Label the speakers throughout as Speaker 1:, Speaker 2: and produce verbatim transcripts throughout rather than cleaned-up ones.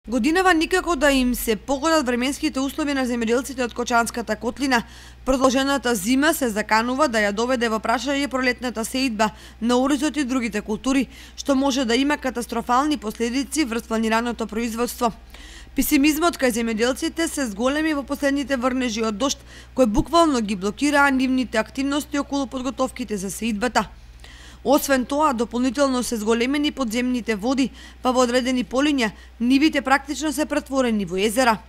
Speaker 1: Годинава никако да им се погодат временските услови на земјоделците од Кочанската котлина. Продолжената зима се заканува да ја доведе во прашање пролетната сеидба на оризот и другите култури, што може да има катастрофални последици врз планираното производство. Песимизмот кај земјоделците се зголеми во последните врнежи од дожд, кои буквално ги блокираа нивните активности околу подготовките за сеидбата. Освен тоа, дополнително се зголемени подземните води, па во одредени полиња нивите практично се претворени во езера.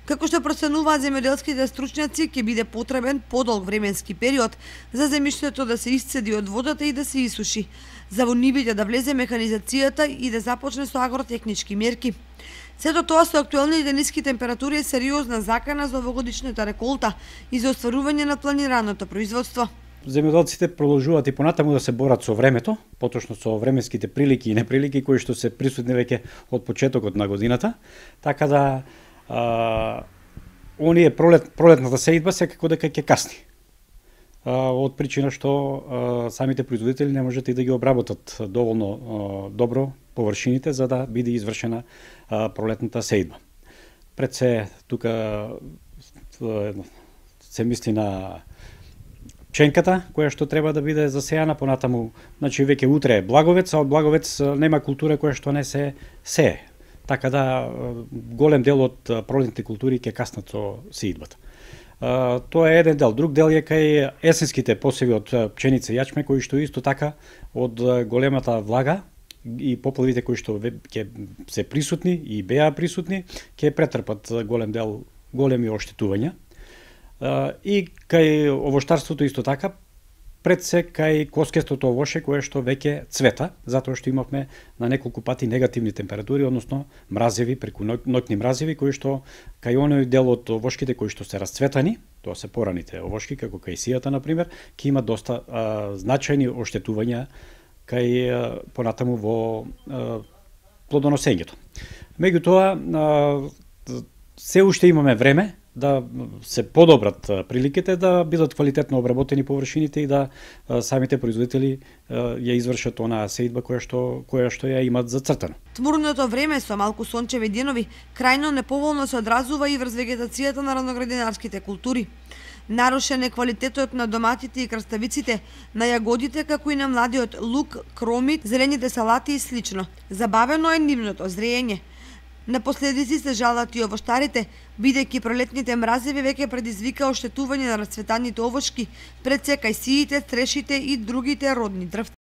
Speaker 1: Како што проценуваат земјоделските стручњаци, ќе биде потребен подолг временски период за земјиштето да се исцеди од водата и да се исуши, за во нивите да влезе механизацијата и да започне со агротехнички мерки. Сето тоа со актуелните ниски температури е сериозна закана за овогодишната реколта и за остварување на планираното производство.
Speaker 2: Земјоделците продолжуваат и понатаму да се борат со времето, поточно со временските прилики и неприлики кои што се присутни веќе од почетокот на годината, така да а, оние пролет, пролетната сеидба секако дека ќе касни. А, од причина што а, самите производители не можат и да ги обработат доволно а, добро површините за да биде извршена а, пролетната сеидба. Пред се тука се мисли на пченката, која што треба да биде засејана, понатаму, значи веќе утре е благовец, а од благовец нема култура која што не се сее. Така да голем дел од пролетните култури ќе каснат со сеидбата. Тоа е еден дел. Друг дел е кај есенските посеви од пченица и јачме, кои што исто така од големата влага и поплавите кои што ќе се присутни и беа присутни, ќе претрпат голем дел големи оштетувања. И кај овоштарството исто така, пред се кај коскестото овоше кое што веќе цвета, затоа што имавме на неколку пати негативни температури, односно мразеви, преку ноќни мразеви, кои што кај оној дел од овошките кои што се расцветани, тоа се пораните овошки, како кај сијата, например, ќе има доста а, значајни оштетувања кај а, понатаму во а, плодоносењето. Меѓутоа, се уште имаме време да се подобрат приликите, да бидат квалитетно обработени површините и да самите производители ја извршат онаа сеидба која што која што ја имат зацртано.
Speaker 1: Тмурното време со малку сончеви денови крајно неповолно се одразува и врз вегетацијата на раноградинарските култури. Нарушен е квалитетот на доматите и краставиците, на јагодите, како и на младиот лук, кромит, зелените салати и слично. Забавено е нивното зреење. На последици се жалат и овоштарите, бидејќи пролетните мразеви веќе предизвика оштетување на расцветаните овошки, пред се кај сиите, трешите и другите родни дрвта.